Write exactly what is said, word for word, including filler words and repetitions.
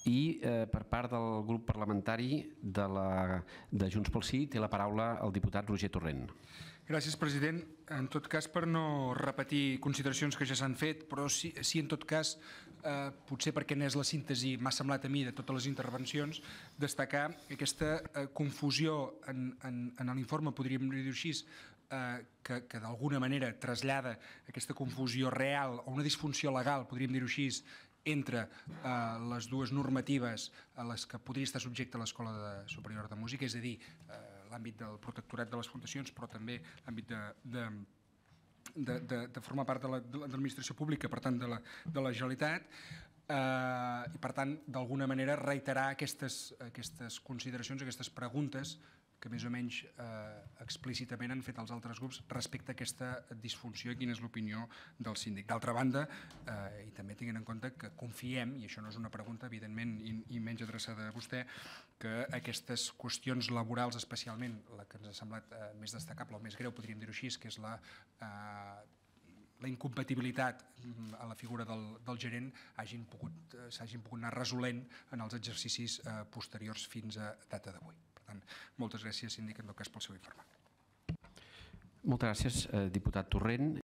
I per part del grup parlamentari de Junts pel Sí té la paraula el diputat Roger Torrent. Gràcies, president. En tot cas, per no repetir consideracions que ja s'han fet, però sí, en tot cas, potser perquè n'és la síntesi, m'ha semblat a mi, de totes les intervencions, destacar aquesta confusió en l'informe, podríem dir-ho així, que d'alguna manera trasllada aquesta confusió real o una disfunció legal, podríem dir-ho així, entre les dues normatives a les que podria estar subjecte l'Escola Superior de Música, és a dir, l'àmbit del protectorat de les fundacions, però també l'àmbit de formar part de l'administració pública, per tant, de la Generalitat, i, per tant, d'alguna manera reiterar aquestes consideracions, aquestes preguntes que més o menys explícitament han fet els altres grups respecte a aquesta disfunció i quina és l'opinió del síndic. D'altra banda, i també tinguent en compte que confiem, i això no és una pregunta, evidentment, i menys adreçada a vostè, que aquestes qüestions laborals, especialment la que ens ha semblat més destacable o més greu, podríem dir-ho així, que és la la incompatibilitat a la figura del gerent s'hagin pogut anar resolent en els exercicis posteriors fins a data d'avui. Per tant, moltes gràcies, síndic, en tot cas, pel seu informe. Moltes gràcies, diputat Torrent.